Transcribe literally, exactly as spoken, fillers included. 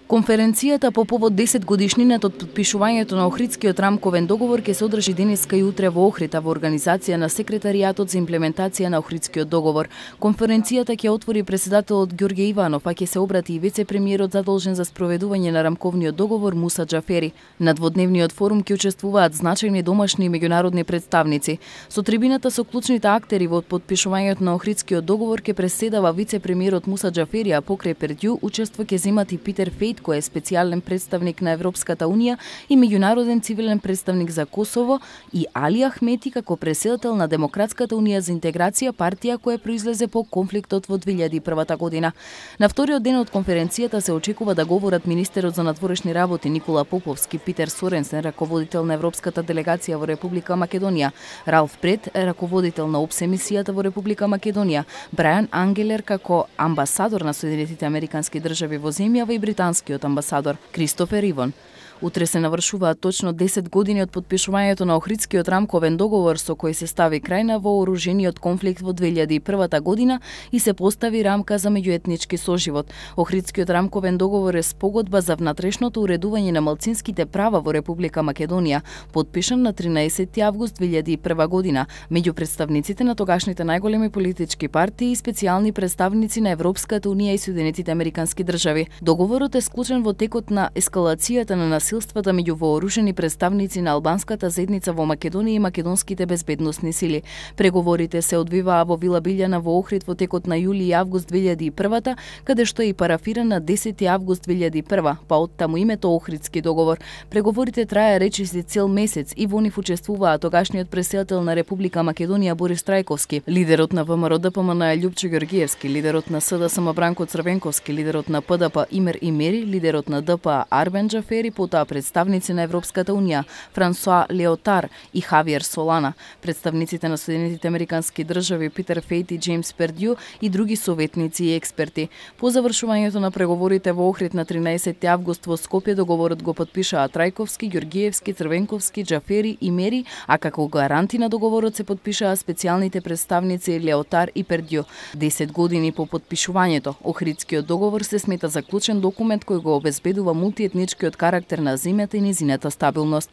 Конференцијата по повод десет годишнината од подпишувањето на Охридскиот рамковен договор ќе се одржи денеска и утре во Охрид, во организација на Секретаријатот за имплементација на Охридскиот договор. Конференцијата ќе отвори председателот Ѓорѓе Иванов, а ќе се обрати и вице-премиерот задолжен за спроведување на рамковниот договор Муса Џафери. На дводневниот форум ќе учествуваат значајни домашни и меѓународни представници. Со трибината со клучните актери во подпишувањето на Охридскиот договор ќе преседава вице-премиерот Муса Џафери, а покрај Пердју учество ќе земат и Питер Фејт, кој е специјален представник на Европската Унија и меѓународен цивилен представник за Косово, и Али Ахмети како председател на Демократската унија за интеграција, партија која произлезе по конфликтот во две илјади и прва година. На вториот ден од конференцијата се очекува да говорат министерот за надворешни работи Никола Поповски, Питер Соренсен, раководител на Европската делегација во Република Македонија, Ралф Пред, раководител на ОПСЕ мисијата во Република Македонија, Брајан Ангелер како амбасадор на Соединетите Американски држави во земјава и британски амбасадор Кристофер Ивон. Утре се навршуваат точно десет години од подпишувањето на Охридскиот рамковен договор со кој се стави крај на вооружениот конфликт во две илјади и прва година и се постави рамка за меѓуетнички соживот. Охридскиот рамковен договор е спогодба за внатрешното уредување на малцинските права во Република Македонија, подпишан на тринаесетти август две илјади и прва година меѓу представниците на тогашните најголеми политички партии и специјални представници на Европската унија и Соединетите Американски држави. Договорот е склучен во текот на ескалацијата на насилствата меѓу вооружени представници на албанската заедница во Македонија и македонските безбедносни сили. Преговорите се одвиваа во Вила Билјана во Охрид во текот на јули и август две илјади и прва, каде што е и парафиран на десети август две илјади и прва, па оттаму името Охридски договор. Преговорите траја речиси цел месец и во нив учествуваа тогашниот председател на Република Македонија Борис Трајковски, лидерот на ВМРО-ДПМН Љупчо Ѓорѓиевски, лидерот на СДСМ Бранко Црвенковски, лидерот на ПДП Имер Имери, лидерот на ДПА Арбен Џафери, потоа представници на Европската унија Франсуа Леотар и Хавиер Солана, представниците на Соединетите Американски држави Питер Фејт и Џејмс Пердју и други советници и експерти. По завршувањето на преговорите во Охрид на тринаесетти август во Скопје договорот го потпишаа Трајковски, Ѓорѓиевски, Црвенковски, Џафери и Мери, а како гаранти на договорот се потпишаа специјалните представници Леотар и Пердју. десет години по потпишувањето, Охридскиот договор се смета заклучен документ кој го обезбедува мултиетничкиот карактер на земјата и незината стабилност.